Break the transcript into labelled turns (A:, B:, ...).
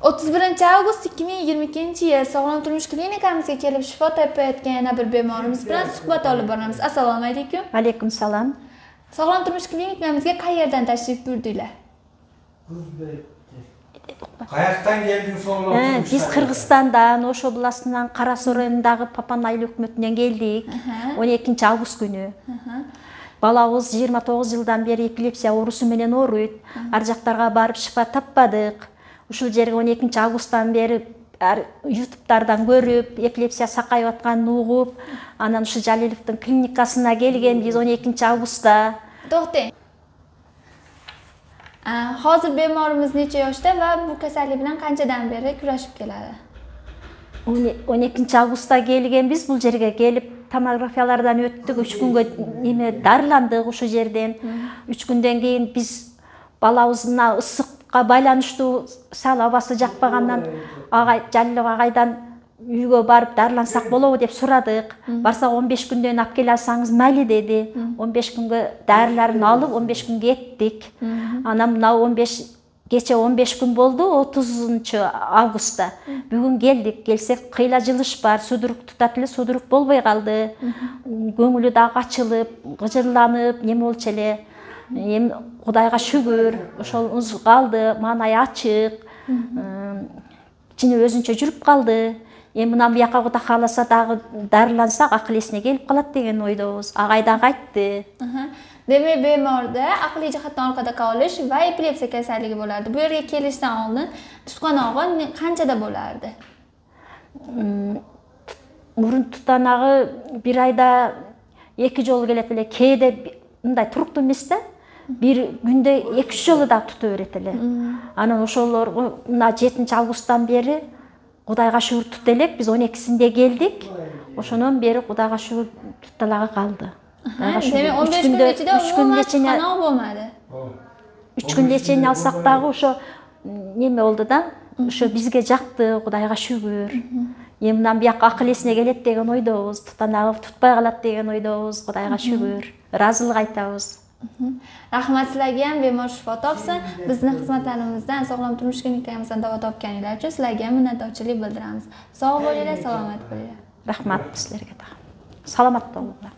A: 31-avgust 2022-yil Sog'lom turmush klinikamizga kelib shifo topayotgan yana bir bemorimiz bilan suhbat olib boramiz. Assalomu alaykum.
B: Alaykum salom.
A: Sog'lom turmush klinikamizga qayerdan tashrif buyurdinglar?
C: Qayerdan kelding Sog'lom turmush?
B: Biz Qirg'izistondan, Osh oblastынан Qarasuv rайонундагы Папанайыл өкмөтүнөн келдик. 12-август күнү. Балабыз 29 жылдан бери эпилепсия оорусу менен ооруйт. Ар жактарга барып шифа таппадык. Ушул жерге 12-августтан бери YouTube'дардан көрүп, эпилепсия сакайып атканын угуп, анан ушу Жалиловдун клиникасына келген биз 12-августта.
A: То'xtang. Hozir bemorimiz necha yoshda va bu kasallik bilan qanchadan beri kurashib keladi?
B: 12-августта келген биз бул жерге келип томографиялардан өттүк, 3 күнгө дарыландык ушул жерден. 3 күндөн кийин биз балабызына ысыкка байланыштуу сал абасы жакпагандан Жалилов агайдан үйгө барып дарылансак болобу деп сурадык. Барсак 15 күндөн алып келе алсаңыз майли деди. 15 күнгө дарыларын алып 15 күн кеттик. Анан мына 15 күн болду, 30-августта. Бүгүн келдик. Келсек кыйла жылыш бар, судурук тутат эле, судурук болбой калды. Көңүлү дагы ачылып, гыжырланып, неме болчу эле. Эми Кудайга шүгүр, ошолубуз калды, маанай ачык. Ичине өзүнчө жүрүп калды. Эми мына бияка Кудай кааласа дагы дарылансак акыл эсине келип калат деген ойдобуз. Агай дагы айтты.
A: Demek bemorda aqliy jihatdan orqada qolish va epilepsiya kasalligi bo'lardi. Bu yerga kelishdan oldin tutqanog'i qanchada bo'lardi?
B: Murun tutanag'i bir ayda 2 жолу келет эле. Кээде мындай туруктуу эмес-да. Bir күндө 2-3 жолу да тута берет эле. Анан ошолорго мына 7-августтан бери Кудайга шүгүр тута элек. Биз 12-синде келдик. Ошондон бери Кудайга шүгүр тутталагы калды.
A: Demek 15 gün içinde umuman tutqanoq bo'lmadi.
B: 3 күнгө чейин алсак дагы ошо неме болду да. Ошо бизге жакты, Кудайга шүгүр. Эми мындан бияка акыл эсине келет деген ойдобуз. Тутанагы тутпай калат деген ойдобуз. Кудайга шүгүр. Ыраазылык айтабыз.
A: Rahmat sizlarga ham bemor shifo topsin. Bizning xizmatlarimizdan, Sog'lom turmush klinikamizdan davo topganinglar uchun sizlarga minnatdorchilik bildiramiz. Sog' bo'linglar, salomat bo'linglar.
B: Rahmat sizlarga da. Salomat bo'linglar.